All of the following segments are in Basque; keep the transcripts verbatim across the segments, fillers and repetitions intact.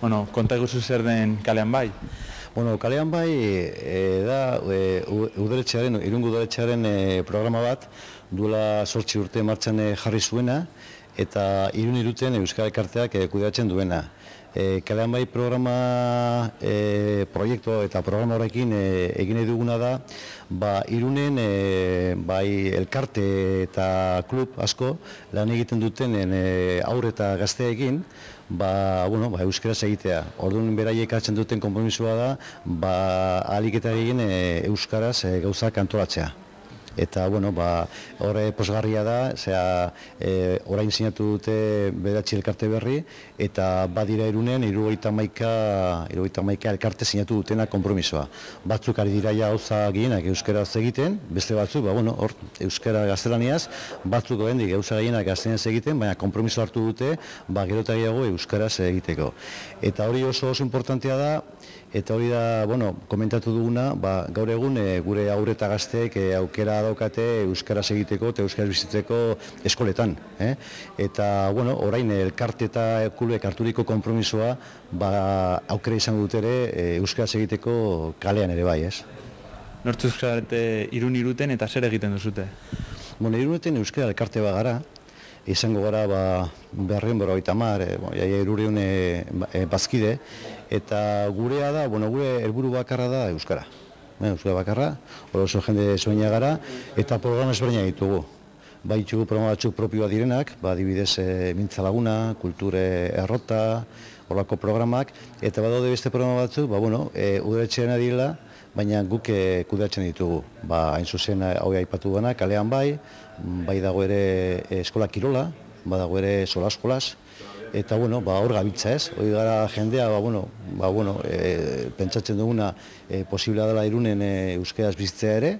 Bueno, konta eguzu zer den Kalean Bai? Bueno, Kalean Bai e, da e, udaletxearen, Irungo udaletxearen e, programa bat duela zortzi urte martxan e, jarri zuena eta Irun Iruten Euskal Elkarteak e, kudeatzen duena. E, Kalean Bai programa e, proiektu eta programa horrekin e, egin nahi duguna da ba, Irunen e, bai elkarte eta klub asko lan egiten duten e, aurre eta gazteekin ba, bueno, ba, euskaraz egitea. Orduan beraiek hartzen duten konpromisoa da ba, ahalik eta egin e, euskaraz e, gauzak antolatzea. Eta, bueno, ba, horre posgarria da, zera, e, orain sinatu dute bederatzi elkarte berri, eta badira Irunen, hirurogeita hamaika elkarte sinatu dutena konpromisoa. Batzuk ari dira ja gauza gehienak euskaraz egiten, beste batzuk, ba, bueno, hor, euskara gaztelaniaz, batzuk oraindik gauza gehienak gaztelaniaz egiten, baina konpromiso hartu dute, ba, gero eta gehiago euskaraz egiteko. Eta hori oso oso importantea da, eta hori da, bueno, komentatu duguna, ba, gaur egun e, gure aurre eta gazteek e, aukera daukate euskaraz egiteko eta euskaraz bizitzeko eskoletan. Eh? Eta, bueno, orain elkarte eta klubek harturiko konpromisoa ba, aukera izango dut ere e, euskaraz egiteko kalean ere bai, ez? Nortzu euskarate Irun Iruten eta zer egiten duzute? Bueno, Iruneten euskara elkarte bat gara, izango gara ba, berrien bora oita mar, e, bon, jaia irureun e, e, bazkide, eta gurea da, bueno, gure helburu bakarra da euskara. Euskara bakarra, hori oso jende zoina gara, eta programa ezberdina ditugu. Baitugu programa batzuk propioa direnak, ba, adibidez e, Mintza Laguna, Kulture Errota, horrelako programak, eta badaude beste programa batzuk, ba, bueno, e, udaletxean direla, baina guk e, kudeatzen ditugu. Ba, hain zuzen hau aipatu gana, Kalean Bai, bai dago ere e, eskola kirola, badago ere sola-eskolaz, eta, bueno, ba, hor gabiltza ez, hori gara jendea, ba, bueno, ba, bueno, e, pentsatzen duguna e, posiblea dela Irunen e, euskaraz bizitzea ere,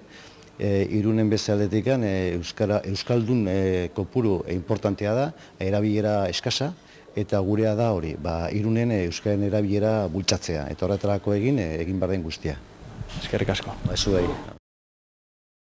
e, Irunen beste aldetikan e, euskara, euskaldun e, kopuru e, importantea da, erabilera eskasa, eta gurea da hori, ba, Irunen e, euskaren erabilera bultzatzea, eta horretarako egin, e, egin behar den guztia. Eskerrik asko. Ba, ez du